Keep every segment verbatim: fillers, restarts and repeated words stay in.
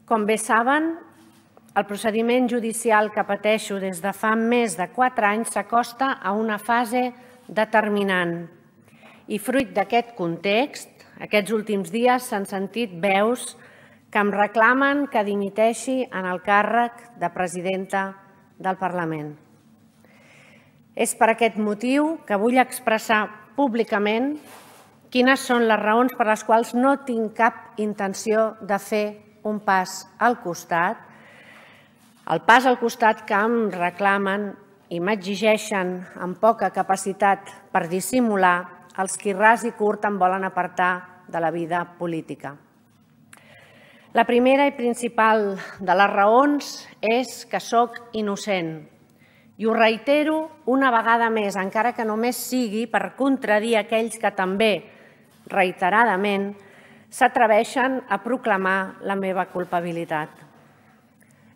Com bé saben, el procediment judicial que pateixo des de fa més de quatre anys s'acosta a una fase determinant. I fruit d'aquest context, aquests últims dies s'han sentit veus que em reclamen que dimiteixi en el càrrec de presidenta del Parlament. És per aquest motiu que vull expressar públicament quines són les raons per les quals no tinc cap intenció de fer un pas al costat, el pas al costat que em reclamen i m'exigeixen amb poca capacitat per dissimular els qui ras i curt em volen apartar de la vida política. La primera i principal de les raons és que sóc innocent. I ho reitero una vegada més, encara que només sigui per contradir aquells que també, reiteradament, s'atreveixen a proclamar la meva culpabilitat.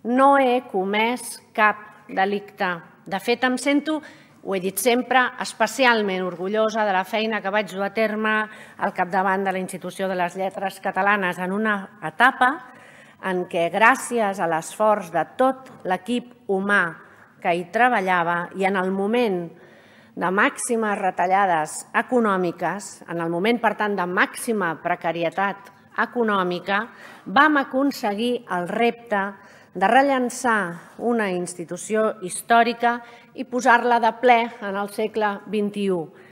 No he comès cap delicte. De fet, em sento, ho he dit sempre, especialment orgullosa de la feina que vaig dur a terme al capdavant de la Institució de les Lletres Catalanes en una etapa en què, gràcies a l'esforç de tot l'equip humà que hi treballava i en el moment de màximes retallades econòmiques, en el moment, per tant, de màxima precarietat econòmica, vam aconseguir el repte de rellançar una institució històrica i posar-la de ple en el segle vint-i-u.